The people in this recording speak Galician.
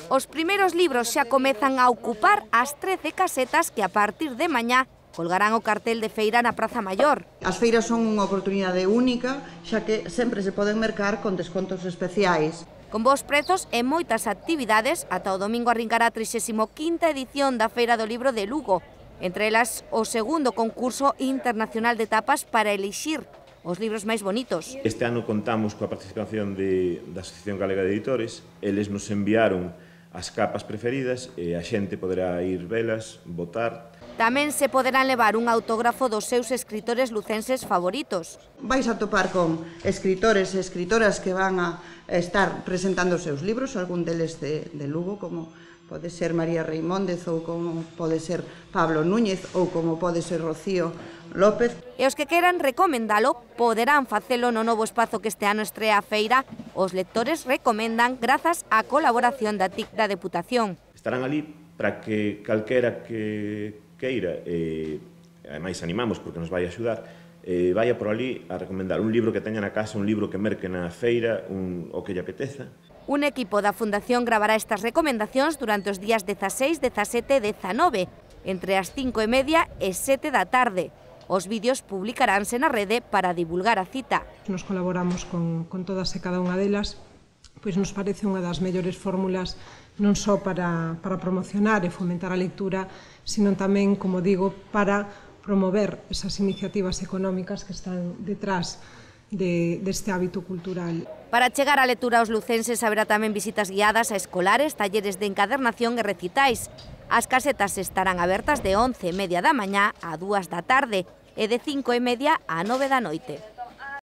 Os primeiros libros xa comezan a ocupar as 13 casetas que a partir de mañá colgarán o cartel de feira na Praza Maior. As feiras son unha oportunidade única, xa que sempre se poden mercar con descontos especiais. Con bons prezos e moitas actividades, ata o domingo arrincará a 35ª edición da Feira do Libro de Lugo, entre elas o segundo concurso internacional de tapas para elixir os libros máis bonitos. Este ano contamos coa participación da Asociación Galega de Editores. Eles nos enviaron as capas preferidas e a xente poderá ir velas, votar. Tamén se poderán levar un autógrafo dos seus escritores lucenses favoritos. Vais a topar con escritores e escritoras que van a estar presentando os seus libros, algún deles de Lugo, como pode ser María Reimóndez, ou como pode ser Pablo Núñez, ou como pode ser Rocío López. E os que queran recomendalo poderán facelo no novo espazo que este ano estrea a feira. Os lectores recomendan grazas á colaboración da TIC da Deputación. Estarán ali para que calquera que queira, ademais animamos porque nos vai axudar, vaya por ali a recomendar un libro que teña na casa, un libro que merque na feira, o que lle apeteza. Un equipo da Fundación gravará estas recomendacións durante os días 16, 17 e 19, entre as 5:30 e 7 da tarde. Os vídeos publicaránse na rede para divulgar a cita. Nos colaboramos con todas e cada unha delas, pois nos parece unha das mellores fórmulas non só para promocionar e fomentar a lectura, sino tamén, como digo, para promover esas iniciativas económicas que están detrás deste hábito cultural. Para chegar á lectura aos lucenses haberá tamén visitas guiadas a escolares, talleres de encadernación e recitais. As casetas estarán abertas de 11:30 da mañá a 2 da tarde e de 5:30 a 9 da noite.